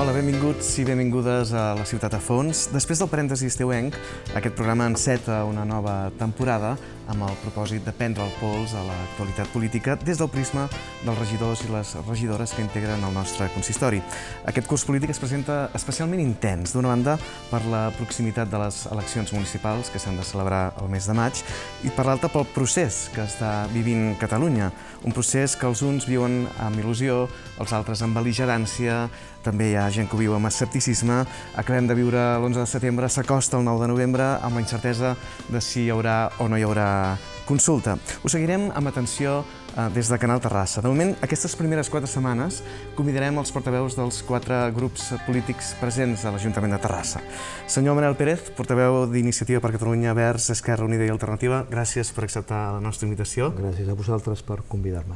Hola, benvinguts i benvingudes a la Ciutat a Fons. Després del parèntesi estiuenc, aquest programa enceta una nova temporada amb el propòsit de prendre el pols a l'actualitat política des del prisma dels regidors i les regidores que integren el nostre consistori. Aquest curs polític es presenta especialment intens, d'una banda per la proximitat de les eleccions municipals que s'han de celebrar el mes de maig i per l'altra pel procés que està vivint Catalunya, un procés que els uns viuen amb il·lusió, els altres amb bel·ligerància, també hi ha gent que ho viu amb escepticisme. Acabem de viure l'11 de setembre, s'acosta el 9 de novembre amb la incertesa de si hi haurà o no hi haurà consulta. Ho seguirem amb atenció des de Canal Terrassa. De moment, aquestes primeres 4 setmanes convidarem els portaveus dels 4 grups polítics presents a l'Ajuntament de Terrassa. Senyor Manel Pérez, portaveu d'Iniciativa per Catalunya, Verds, Esquerra Unida i Alternativa, gràcies per acceptar la nostra invitació. Gràcies a vosaltres per convidar-me.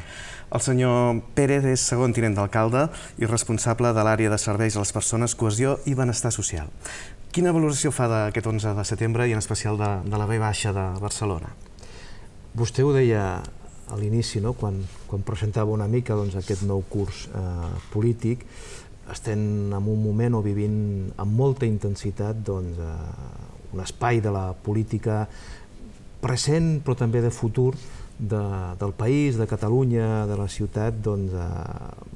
El senyor Pérez és segon tinent d'alcalde i responsable de l'àrea de serveis a les persones, cohesió i benestar social. Quina valoració fa d'aquest 11 de setembre i en especial de la V baixa de Barcelona? Vostè ho deia a l'inici, quan presentava una mica aquest nou curs polític. Estem en un moment o vivint amb molta intensitat un espai de la política present però també de futur del país, de Catalunya, de la ciutat,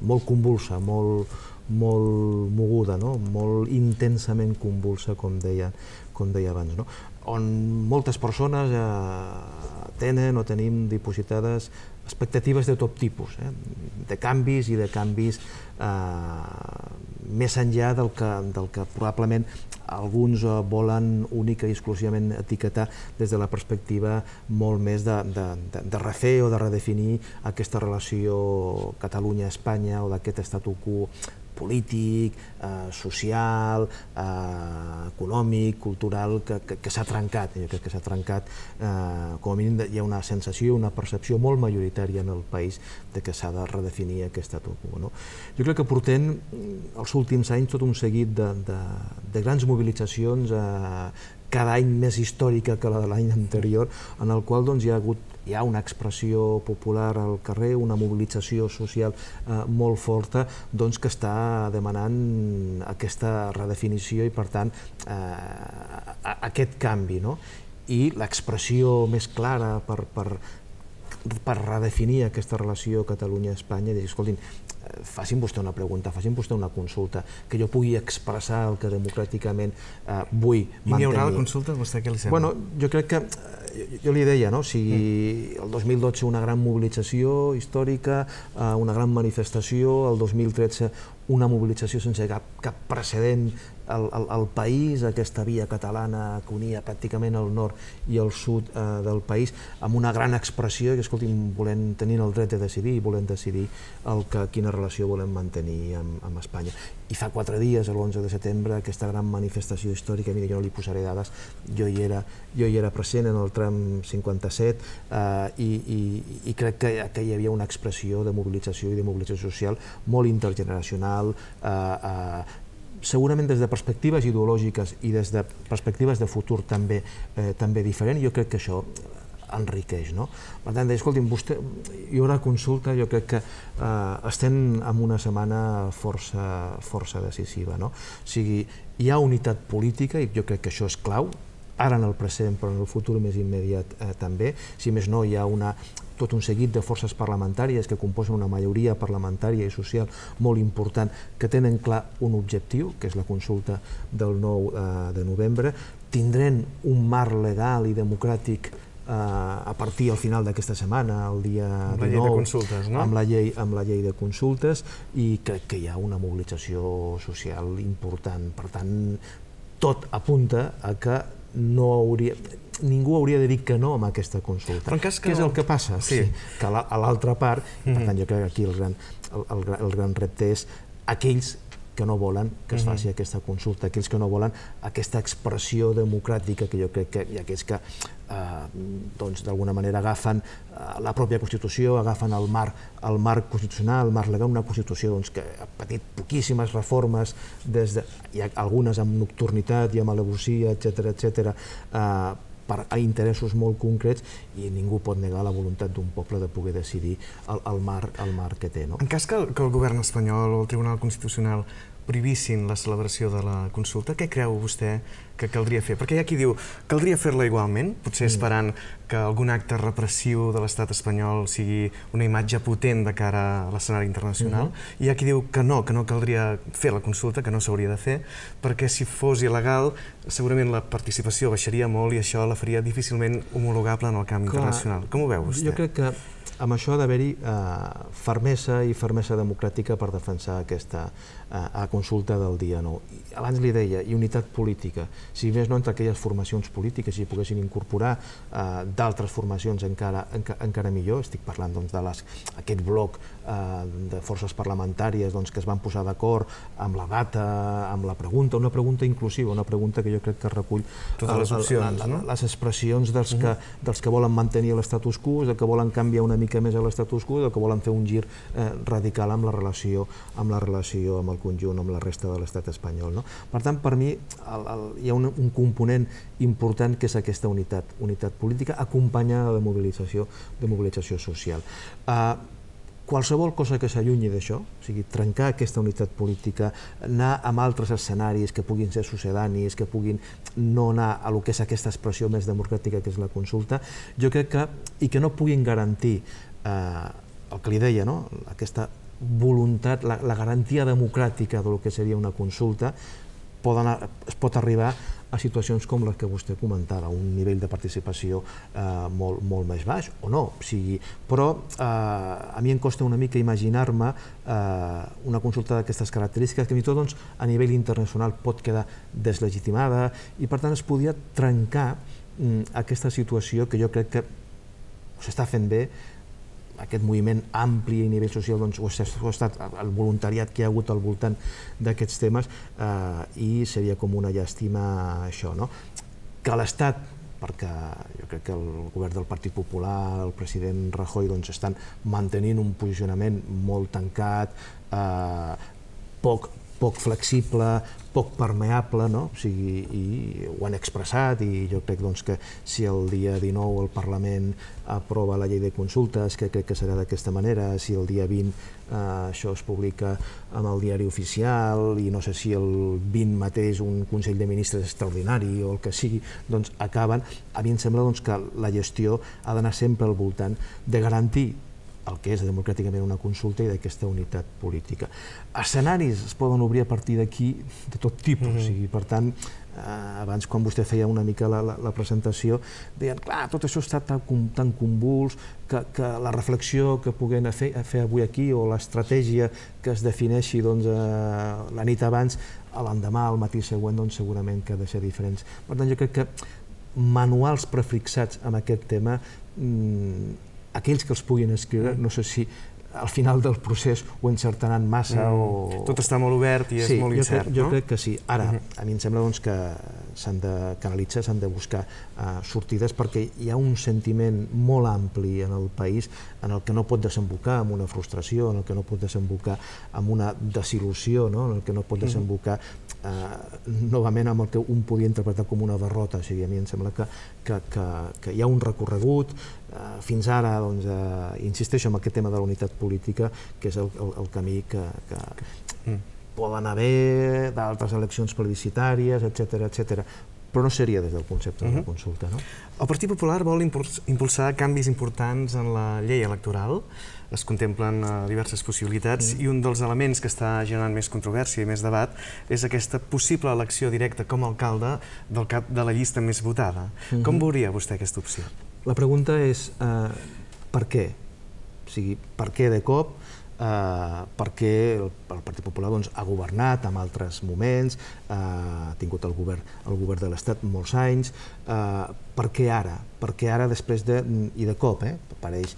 molt convulsa, molt moguda, molt intensament convulsa, com deia abans, on moltes persones tenen o tenim dipositades expectatives de tot tipus, de canvis i de canvis més enllà del que probablement alguns volen única i exclusivament etiquetar des de la perspectiva molt més de refer o de redefinir aquesta relació Catalunya-Espanya o d'aquest statu quo polític, social, econòmic, cultural, que s'ha trencat. Jo crec que s'ha trencat, com a mínim hi ha una sensació, una percepció molt majoritària en el país de que s'ha de redefinir aquest statu quo. Jo crec que portem els últims anys tot un seguit de grans mobilitzacions, cada any més històrica que la de l'any anterior, en el qual hi ha una expressió popular al carrer, una mobilització social molt forta que està demanant aquesta redefinició i, per tant, aquest canvi. I l'expressió més clara per redefinir aquesta relació Catalunya-Espanya és dir, escoltin, facin vostè una pregunta, facin vostè una consulta, que jo pugui expressar el que democràticament vull mantenir. I n'hi haurà la consulta? Vostè què li sembla? Jo crec que, jo li deia, el 2012 una gran mobilització històrica, una gran manifestació, el 2013 una mobilització sense cap precedent al país, aquesta via catalana que unia pràcticament el nord i el sud del país, amb una gran expressió que, escolti'm, tenint el dret de decidir i volem decidir quina relació volem mantenir amb Espanya. I fa 4 dies, l'11 de setembre, aquesta gran manifestació històrica, mira, jo no li posaré dades, jo hi era present en el tram 57 i crec que hi havia una expressió de mobilització i de mobilització social molt intergeneracional, segurament des de perspectives ideològiques i des de perspectives de futur també diferent. Jo crec que això enriqueix. Per tant, escolti'm, hi haurà consulta, jo crec que estem en una setmana força decisiva. O sigui, hi ha unitat política i jo crec que això és clau, ara en el present però en el futur més immediat també. Si més no, hi ha tot un seguit de forces parlamentàries que composen una majoria parlamentària i social molt important que tenen clar un objectiu, que és la consulta del 9 de novembre. Tindrem un marc legal i democràtic a partir al final d'aquesta setmana, el dia 19, amb la llei de consultes, i crec que hi ha una mobilització social important. Per tant, tot apunta a que ningú hauria de dir que no a aquesta consulta. Què és el que passa? Que a l'altra part, per tant, jo crec que aquí el gran repte és aquells que no volen que es faci aquesta consulta, aquells que no volen aquesta expressió democràtica, que jo crec que hi ha aquells que d'alguna manera agafen la pròpia Constitució, agafen el marc constitucional, el marc legal, una Constitució que ha patit poquíssimes reformes, hi ha algunes amb nocturnitat i amb alevosia, etcètera, per a interessos molt concrets, i ningú pot negar la voluntat d'un poble de poder decidir el marc que té. En cas que el govern espanyol o el Tribunal Constitucional prohibissin la celebració de la consulta, què creu vostè que caldria fer? Perquè hi ha qui diu que caldria fer-la igualment, potser esperant que algun acte repressiu de l'estat espanyol sigui una imatge potent de cara a l'escenari internacional, i hi ha qui diu que no caldria fer la consulta, que no s'hauria de fer, perquè si fos il·legal segurament la participació baixaria molt i això la faria difícilment homologable en el camp internacional. Com ho veu vostè? Jo crec que amb això ha d'haver-hi fermesa i fermesa democràtica per defensar aquesta consulta del dia 9. Abans li deia, i unitat política. Si més no entre aquelles formacions polítiques, si poguessin incorporar d'altres formacions encara millor, estic parlant d'aquest bloc de forces parlamentàries que es van posar d'acord amb la data, amb la pregunta, una pregunta inclusiva, una pregunta que jo crec que recull les expressions dels que volen mantenir l'estatus quo, dels que volen canviar una mica més a l'estatus quo, del que volen fer un gir radical amb la relació amb el conjunt, amb la resta de l'estat espanyol. Per tant, per mi hi ha un component important que és aquesta unitat política acompanyada de mobilització social. Qualsevol cosa que s'allunyi d'això, o sigui, trencar aquesta unitat política, anar amb altres escenaris que puguin ser succedanis, que puguin no anar a lo que és aquesta expressió més democràtica que és la consulta, jo crec que, i que no puguin garantir el que li deia, aquesta voluntat, la garantia democràtica del que seria una consulta, es pot arribar a situacions com les que vostè comentava, un nivell de participació molt més baix, o no, però a mi em costa una mica imaginar-me una consulta d'aquestes característiques que fins i tot a nivell internacional pot quedar deslegitimada i per tant es podia trencar aquesta situació que jo crec que s'està fent bé, aquest moviment ampli a nivell social, o ha estat el voluntariat que hi ha hagut al voltant d'aquests temes i seria com una llàstima això, que l'Estat, perquè jo crec que el govern del Partit Popular, el president Rajoy, estan mantenint un posicionament molt tancat, poc flexible, poc permeable, i ho han expressat, i jo crec que si el dia 19 el Parlament aprova la llei de consultes, que crec que serà d'aquesta manera, si el dia 20 això es publica en el diari oficial, i no sé si el 20 mateix un Consell de Ministres extraordinari o el que sigui, acaben, a mi em sembla que la gestió ha d'anar sempre al voltant de garantir el que és democràticament una consulta i d'aquesta unitat política. Escenaris es poden obrir a partir d'aquí de tot tipus, per tant, abans quan vostè feia una mica la presentació, deien, clar, tot això està tan convuls que la reflexió que puguem fer avui aquí o l'estratègia que es defineixi la nit abans, l'endemà, al matí següent, segurament que ha de ser diferents. Per tant, jo crec que manuals prefixats amb aquest tema, aquells que els puguin escriure, no sé si al final del procés ho encertaran massa o... Tot està molt obert i és molt incert, no? Jo crec que sí. Ara, a mi em sembla que s'han de canalitzar, s'han de buscar sortides perquè hi ha un sentiment molt ampli en el país en el que no pot desembocar en una frustració, en el que no pot desembocar en una desil·lusió, en el que no pot desembocar novament amb el que un podia interpretar com una derrota. O sigui, a mi em sembla que hi ha un recorregut. Fins ara, insisteixo en aquest tema de la unitat política, que és el camí que poden haver d'altres eleccions plebiscitàries, etc., però no seria des del concepte de la consulta. El Partit Popular vol impulsar canvis importants en la llei electoral. Es contemplen diverses possibilitats i un dels elements que està generant més controvèrsia i més debat és aquesta possible elecció directa com a alcalde del cap de la llista més votada. Com veuria vostè aquesta opció? La pregunta és per què? O sigui, per què de cop? Perquè el Partit Popular ha governat en altres moments, ha tingut el govern de l'Estat molts anys. Per què ara? Perquè ara, i de cop, apareix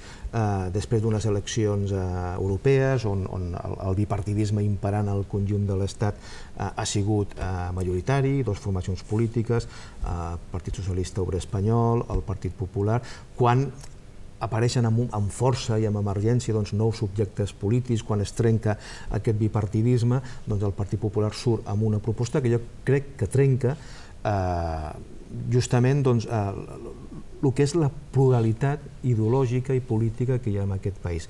després d'unes eleccions europees on el bipartidisme imperant al conjunt de l'Estat ha sigut majoritari, dues formacions polítiques, el Partit Socialista Obrer Espanyol, el Partit Popular, quan apareixen amb força i amb emergència nous subjectes polítics, quan es trenca aquest bipartidisme, el Partit Popular surt amb una proposta que jo crec que trenca justament el que és la pluralitat ideològica i política que hi ha en aquest país.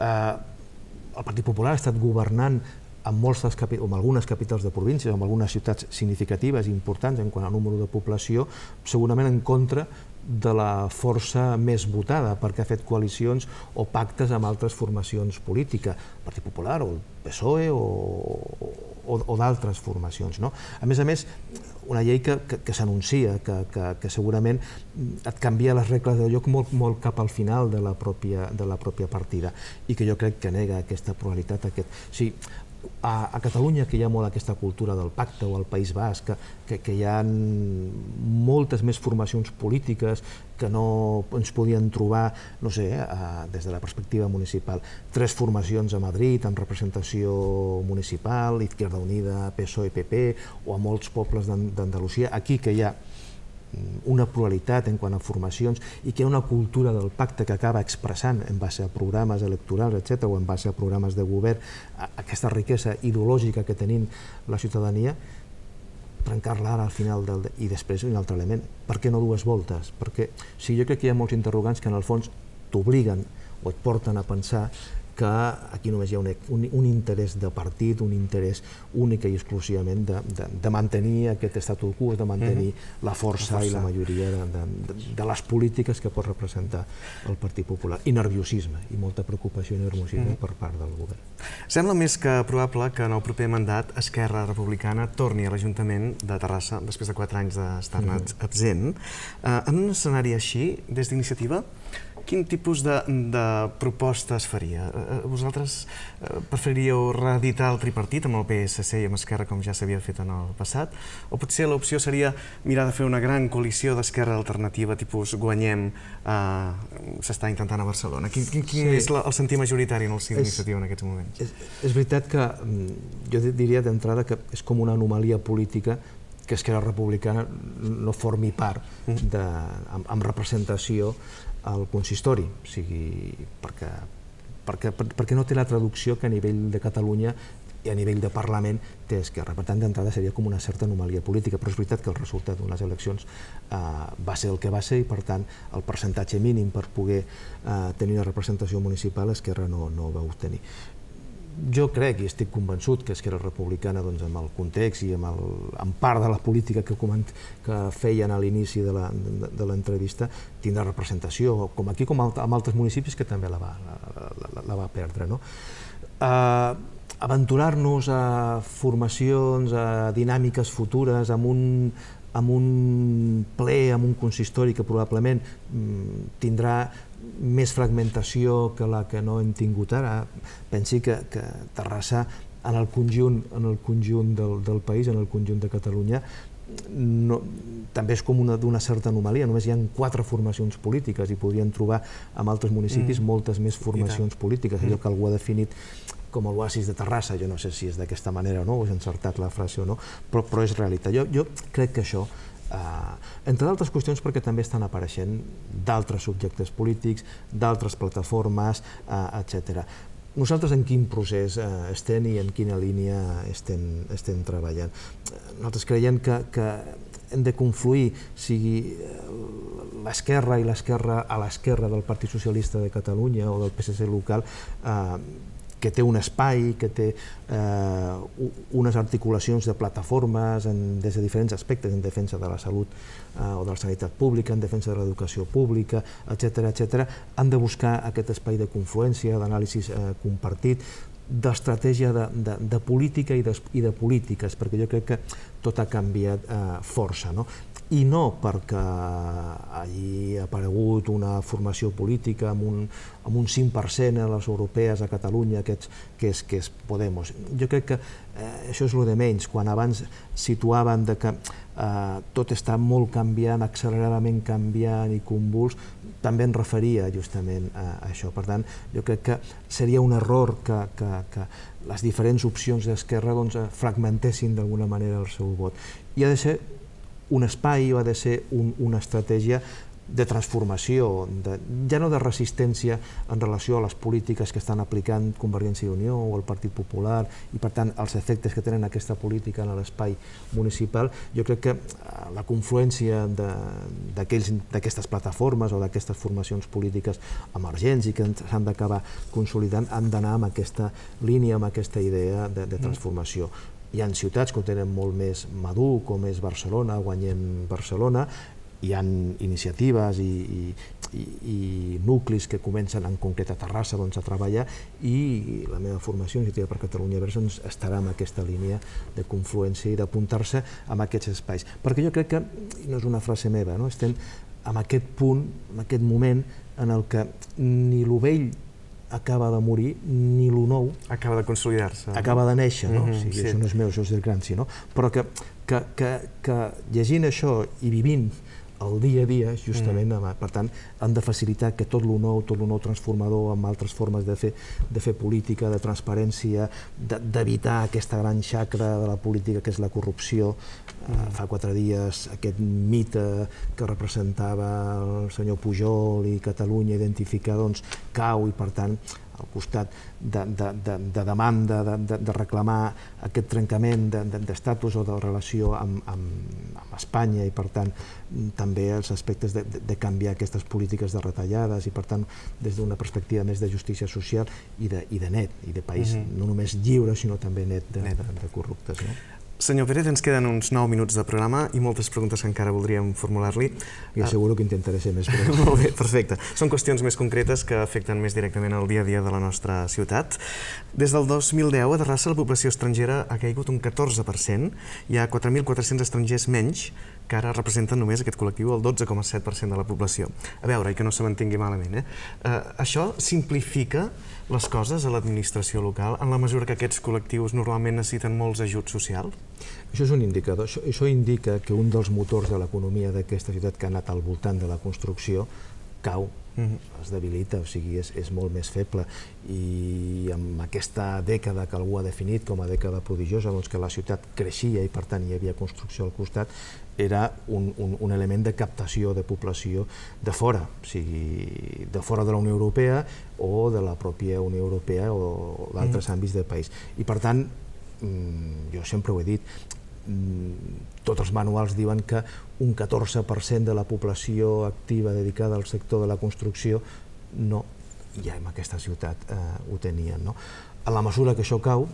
El Partit Popular ha estat governant amb algunes capitals de províncies, amb algunes ciutats significatives i importants en quant a número de població, segurament en contra de la força més votada, perquè ha fet coalicions o pactes amb altres formacions polítiques, el Partit Popular o el PSOE o d'altres formacions. A més, una llei que s'anuncia, que segurament et canvia les regles del joc molt cap al final de la pròpia partida i que jo crec que nega aquesta pluralitat. A Catalunya, que hi ha molt aquesta cultura del pacte, o al País Basc, que hi ha moltes més formacions polítiques que no ens podien trobar, no sé, des de la perspectiva municipal. 3 formacions a Madrid amb representació municipal, Izquierda Unida, PSOE, PP, o a molts pobles d'Andalusia. Aquí que hi ha una pluralitat en quant a formacions i que hi ha una cultura del pacte que acaba expressant en base a programes electorals, etc., o en base a programes de govern, aquesta riquesa ideològica que tenim la ciutadania, trencar-la ara al final i després un altre element. Per què no 2 voltes? Perquè jo crec que hi ha molts interrogants que en el fons t'obliguen o et porten a pensar que aquí només hi ha un interès de partit, un interès únic i exclusivament de mantenir aquest statu quo, de mantenir la força i la majoria de les polítiques que pot representar el Partit Popular. I nerviosisme, i molta preocupació i nerviosisme per part del govern. Sembla més que probable que en el proper mandat Esquerra Republicana torni a l'Ajuntament de Terrassa després de 4 anys d'estar-ne absent. En un escenari així, des d'Iniciativa, quin tipus de propostes faria? Vosaltres preferiríeu reeditar el tripartit amb el PSC i amb Esquerra com ja s'havia fet en el passat? O potser l'opció seria mirar de fer una gran coalició d'Esquerra Alternativa, tipus guanyem, s'està intentant a Barcelona? Quin és el sentir majoritari en el si d'Iniciativa en aquests moments? És veritat que jo diria d'entrada que és com una anomalia política que Esquerra Republicana no formi part amb representació al consistori, perquè no té la traducció que a nivell de Catalunya i a nivell de Parlament té Esquerra. Per tant, d'entrada seria com una certa anomalia política, però és veritat que el resultat d'unes eleccions va ser el que va ser i, per tant, el percentatge mínim per poder tenir una representació municipal Esquerra no va obtenir. Jo crec i estic convençut que Esquerra Republicana, amb el context i amb part de la política que feien a l'inici de l'entrevista, tindrà representació, com aquí com en altres municipis que també la va perdre. Aventurar-nos a formacions, a dinàmiques futures, amb un ple, amb un consistori que probablement tindrà més fragmentació que la que no hem tingut ara. Pensi que Terrassa, en el conjunt del país, en el conjunt de Catalunya, també és com d'una certa anomalia. Només hi ha 4 formacions polítiques i podrien trobar en altres municipis moltes més formacions polítiques. Allò que algú ha definit com l'oasis de Terrassa, jo no sé si és d'aquesta manera o no, o és encertat la frase o no, però és realitat. Jo crec que això, entre d'altres qüestions perquè també estan apareixent d'altres subjectes polítics, d'altres plataformes, etc. Nosaltres en quin procés estem i en quina línia estem treballant? Nosaltres creiem que hem de confluir, sigui l'esquerra i l'esquerra a l'esquerra del Partit Socialista de Catalunya o del PSC local, que té un espai, que té unes articulacions de plataformes des de diferents aspectes, en defensa de la salut o de la sanitat pública, en defensa de l'educació pública, etc. Han de buscar aquest espai de confluència, d'anàlisi compartit, d'estratègia de política i de polítiques, perquè jo crec que tot ha canviat força. I no perquè hagi aparegut una formació política amb un 5% a les europees a Catalunya, que és Podemos. Jo crec que això és el de menys. Quan abans situaven que tot està molt canviant, acceleradament canviant i convuls, també em referia justament a això. Per tant, jo crec que seria un error que les diferents opcions d'Esquerra fragmentessin d'alguna manera el seu vot. I ha de ser un espai o ha de ser una estratègia de transformació, ja no de resistència en relació a les polítiques que estan aplicant Convergència i Unió o el Partit Popular i per tant els efectes que tenen aquesta política en l'espai municipal. Jo crec que la confluència d'aquestes plataformes o d'aquestes formacions polítiques emergents i que s'han d'acabar consolidant han d'anar amb aquesta línia, amb aquesta idea de transformació. Hi ha ciutats que ho tenen molt més madur, com és Barcelona, Guanyem Barcelona. Hi ha iniciatives i nuclis que comencen en concret a Terrassa a treballar i la meva formació, Iniciativa per Catalunya Verds, estarà en aquesta línia de confluència i d'apuntar-se en aquests espais. Perquè jo crec que, no és una frase meva, estem en aquest punt, en aquest moment en el que ni lo vell acaba de morir, ni lo nou acaba de consolidar-se. Acaba de néixer, no? Això no és meu, això és del Gramsci, no? Però que llegint això i vivint el dia a dia, justament, per tant, han de facilitar que tot lo nou transformador, amb altres formes de fer política, de transparència, d'evitar aquesta gran xacra de la política que és la corrupció. Fa 4 dies aquest mite que representava el senyor Pujol i Catalunya identificar cau i per tant al costat de demanda, de reclamar aquest trencament d'estatus o de relació amb Espanya i per tant també els aspectes de canviar aquestes polítiques de retallades i per tant des d'una perspectiva més de justícia social i de net, i de país no només lliure sinó també net de corruptes. Senyor Pérez, ens queden uns 9 minuts de programa i moltes preguntes que encara voldríem formular-li. I asseguro que intentaré ser més breu. Molt bé, perfecte. Són qüestions més concretes que afecten més directament el dia a dia de la nostra ciutat. Des del 2010 a Terrassa la població estrangera ha caigut un 14%. Hi ha 4.400 estrangers menys que ara representen només aquest col·lectiu el 12,7% de la població. A veure, i que no se m'entengui malament, això simplifica les coses a l'administració local en la mesura que aquests col·lectius normalment necessiten molts ajuts socials? Això és un indicador. Això indica que un dels motors de l'economia d'aquesta ciutat que ha anat al voltant de la construcció cau, es debilita, o sigui, és molt més feble. I amb aquesta dècada que algú ha definit com a dècada prodigiosa, que la ciutat creixia i per tant hi havia construcció al costat, era un element de captació de població de fora, o sigui, de fora de la Unió Europea o de la pròpia Unió Europea o d'altres àmbits del país. I per tant, jo sempre ho he dit, tots els manuals diuen que un 14% de la població activa dedicada al sector de la construcció no, ja en aquesta ciutat ho tenien. En la mesura que això cau,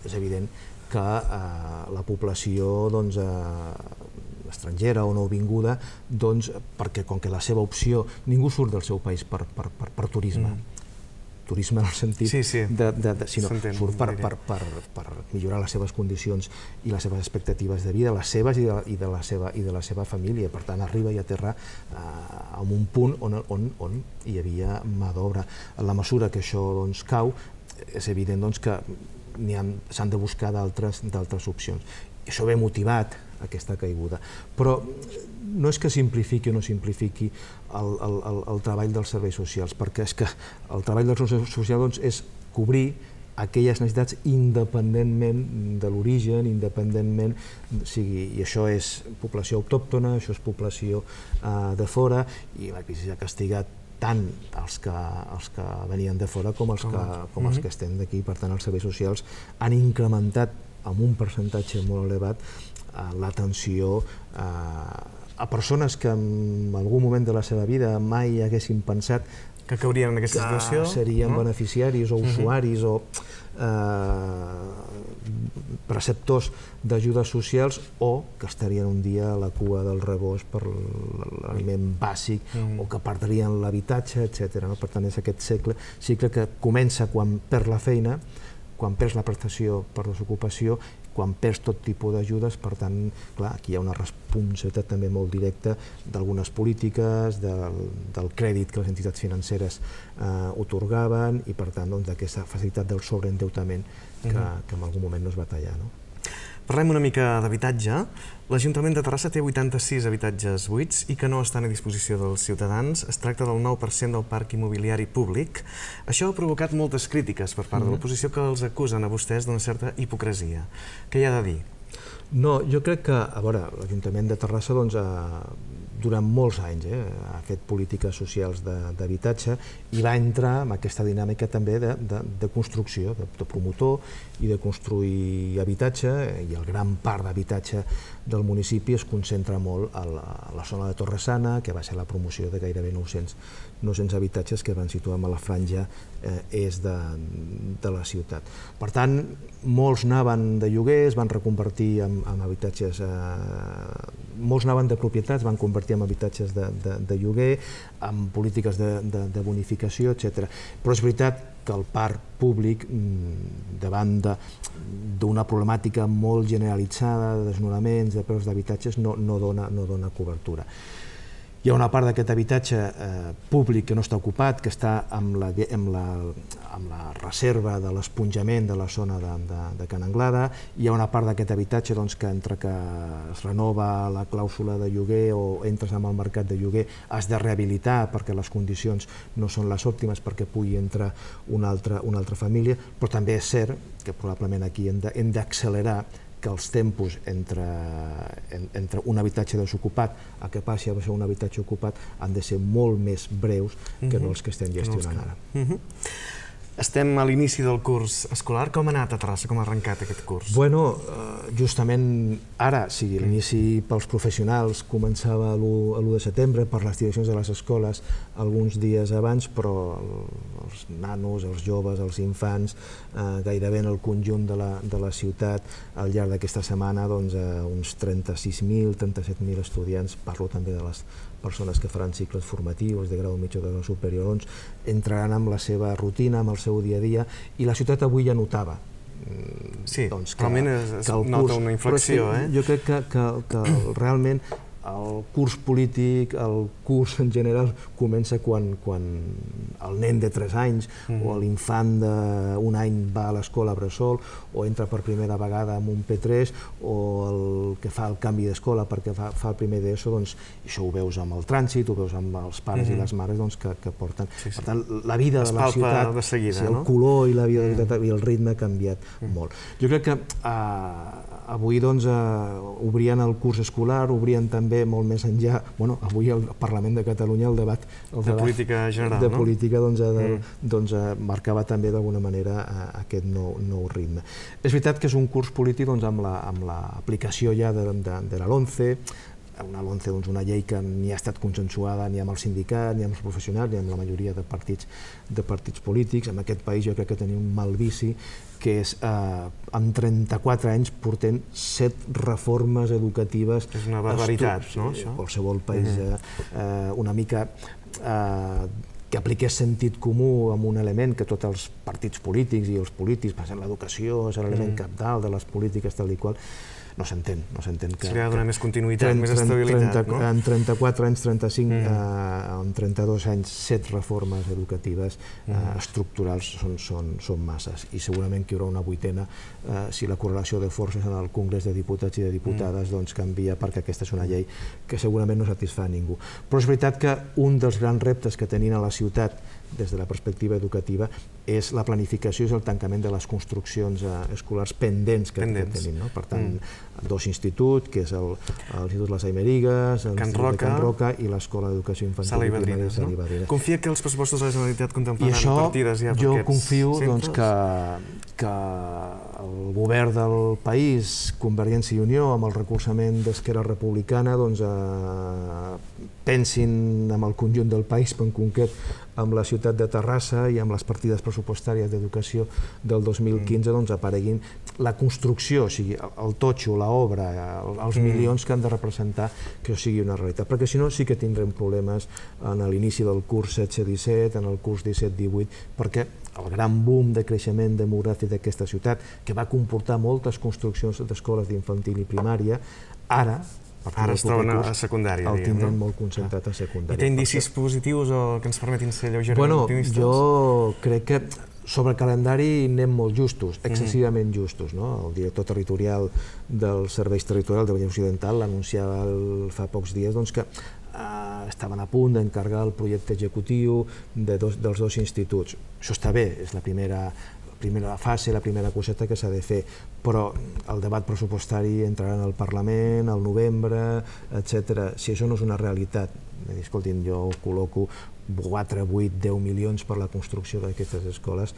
és evident que la població estrangera o nouvinguda, perquè com que la seva opció, ningú surt del seu país per turisme, turisme en el sentit sinó surt per millorar les seves condicions i les seves expectatives de vida, les seves i de la seva família. Per tant, arriba i aterra en un punt on hi havia mà d'obra. En la mesura que això cau, és evident que s'han de buscar d'altres opcions. Això ve motivat, aquesta caiguda. Però no és que simplifiqui o no simplifiqui el treball dels serveis socials, perquè és que el treball dels serveis socials és cobrir aquelles necessitats independentment de l'origen, independentment, i això és població autòctona, això és població de fora, i la crisi ha castigat tant els que venien de fora com els que estem d'aquí. Per tant, els serveis socials han incrementat amb un percentatge molt elevat l'atenció a persones que en algun moment de la seva vida mai haguessin pensat que caurien en aquesta situació, que serien beneficiaris o usuaris o preceptors d'ajudes socials o que estarien un dia a la cua del rebost per l'aliment bàsic o que perdrien l'habitatge, etc. Per tant, és aquest cicle que comença quan perd la feina, quan perds la prestació per desocupació, quan perds tot tipus d'ajudes. Per tant, clar, aquí hi ha una responsabilitat també molt directa d'algunes polítiques, del crèdit que les entitats financeres atorgaven i, per tant, d'aquesta facilitat del sobreendeutament que en algun moment no es va tallar. Parlem una mica d'habitatge. L'Ajuntament de Terrassa té 86 habitatges buits i que no estan a disposició dels ciutadans. Es tracta del 9% del parc immobiliari públic. Això ha provocat moltes crítiques per part de l'oposició que els acusen a vostès d'una certa hipocresia. Què hi ha de dir? No, jo crec que, a veure, l'Ajuntament de Terrassa durant molts anys ha fet polítiques socials d'habitatge i va entrar en aquesta dinàmica també de construcció, de promotor i de construir habitatge, i el gran parc d'habitatge del municipi es concentra molt a la zona de Torresana, que va ser la promoció de gairebé 900 habitatges que van situar a la franja est de la ciutat. Per tant, molts anaven de lloguer, es van reconvertir en habitatges, molts anaven de propietats, van convertir en habitatges de lloguer, amb polítiques de bonificació, etc. Però és veritat que el parc públic, davant d'una problemàtica molt generalitzada de desnonaments, de preus d'habitatges, no dona cobertura. Hi ha una part d'aquest habitatge públic que no està ocupat, que està amb la reserva de l'esponjament de la zona de Can Anglada. Hi ha una part d'aquest habitatge que entre que es renova la clàusula de lloguer o entres en el mercat de lloguer has de rehabilitar perquè les condicions no són les òptimes perquè pugui entrar una altra família, però també és cert que probablement aquí hem d'accelerar que els tempos entre un habitatge desocupat a que passi a ser un habitatge ocupat han de ser molt més breus que no els que estem gestionant ara. Estem a l'inici del curs escolar. Com ha anat a Terrassa? Com ha arrencat aquest curs? Bueno, justament ara, l'inici pels professionals començava l'1 de setembre, per les direccions de les escoles alguns dies abans, però els nanos, els joves, els infants, gairebé en el conjunt de la ciutat, al llarg d'aquesta setmana, uns 36.000, 37.000 estudiants, parlo també de les persones que faran cicles formatius de grau mitjà o de grau superior, entraran amb la seva rutina, amb el seu dia a dia, i la ciutat avui ja notava. Sí, realment es nota una inflexió. Jo crec que realment el curs polític, el curs en general, comença quan el nen de 3 anys o l'infant d'un any va a l'escola bressol o entra per primera vegada en un P3 o el que fa el canvi d'escola perquè fa el primer d'ESO, això ho veus amb el trànsit, ho veus amb els pares i les mares que porten. Per tant, la vida de la ciutat, el color i la vida de la ciutat i el ritme ha canviat molt. Jo crec que avui obrien el curs escolar, obrien també molt més enllà, avui al Parlament de Catalunya el debat de política general, de política marcava també d'alguna manera aquest nou ritme. És veritat que és un curs polític amb l'aplicació ja de la LOMCE, una llei que ni ha estat consensuada ni amb el sindicat, ni amb els professionals, ni amb la majoria de partits polítics. En aquest país jo crec que tenim un mal vici, que és, en 34 anys portem 7 reformes educatives. És una barbaritat, no, això? Qualsevol país una mica que apliqués sentit comú amb un element que tots els partits polítics i els polítics, l'educació és l'element cabdal de les polítiques tal i qual, no s'entén. Se li ha de donar més continuïtat, més estabilitat, no? En 34 anys, 35, en 32 anys, 7 reformes educatives estructurals són masses, i segurament que hi haurà una 8a si la correlació de forces en el Congrés de Diputats i de Diputades canvia, perquè aquesta és una llei que segurament no satisfà a ningú. Però és veritat que un dels grans reptes que tenien a la ciutat des de la perspectiva educativa és la planificació i el tancament de les construccions escolars pendents que tenim. Per tant, 2 instituts, que és l'Institut Les Aimerigas, l'Institut de Can Roca i l'Escola d'Educació Infantil i Primària de Sala i Badrina. Confia que els pressupostos de la Generalitat contemplaran partides ja per aquests centres? Jo confio que el govern del país, Convergència i Unió, amb el recolzament d'Esquerra Republicana, pensin en el conjunt del país, però en concret amb la ciutat de Terrassa i amb les partides pressupostàries d'educació del 2015 apareguin la construcció, o sigui, el totxo, l'obra, els milions que han de representar que això sigui una realitat, perquè si no sí que tindrem problemes en l'inici del curs 16-17, en el curs 17-18, perquè el gran boom de creixement demogràfic d'aquesta ciutat, que va comportar moltes construccions d'escoles d'infantil i primària, ara es troben a secundària, el tindrem molt concentrat a secundària. I té indicis positius o que ens permetin ser lleugerament optimistes? Jo crec que sobre el calendari anem molt justos, excessivament justos. El director territorial dels serveis territorials de Vallès Occidental l'anunciava fa pocs dies que estaven a punt d'encarregar el projecte executiu dels 2 instituts. Això està bé, és la primera primera fase, la primera coseta que s'ha de fer, però el debat pressupostari entrarà en el Parlament, al novembre, etc. Si això no és una realitat, escoltin, jo col·loco 4, 8, 10 milions per la construcció d'aquestes escoles,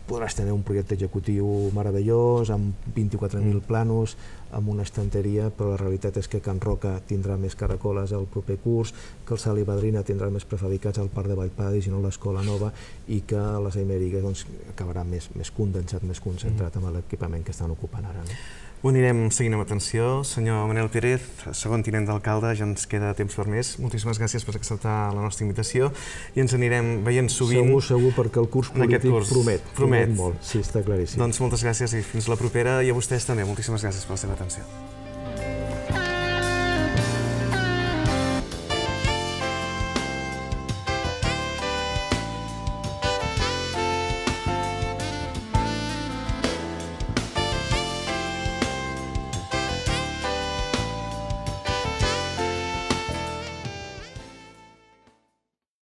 podràs tenir un projecte executiu meravellós, amb 24.000 planos, amb una estanteria, però la realitat és que Can Roca tindrà més caracoles el proper curs, que el Sal i Padrina tindrà més prefabricats al Parc de Vallpadis i no l'escola nova, i que les Amèriques acabarà més condensat, més concentrat amb l'equipament que estan ocupant ara. Ho anirem seguint amb atenció. Senyor Manel Pérez, segon tinent d'alcalde, ja ens queda temps per més. Moltíssimes gràcies per acceptar la nostra invitació i ens anirem veient sovint... Segur, perquè el curs polític promet molt. Sí, està claríssim. Doncs moltes gràcies i fins la propera, i a vostès també. Moltíssimes gràcies per la seva atenció.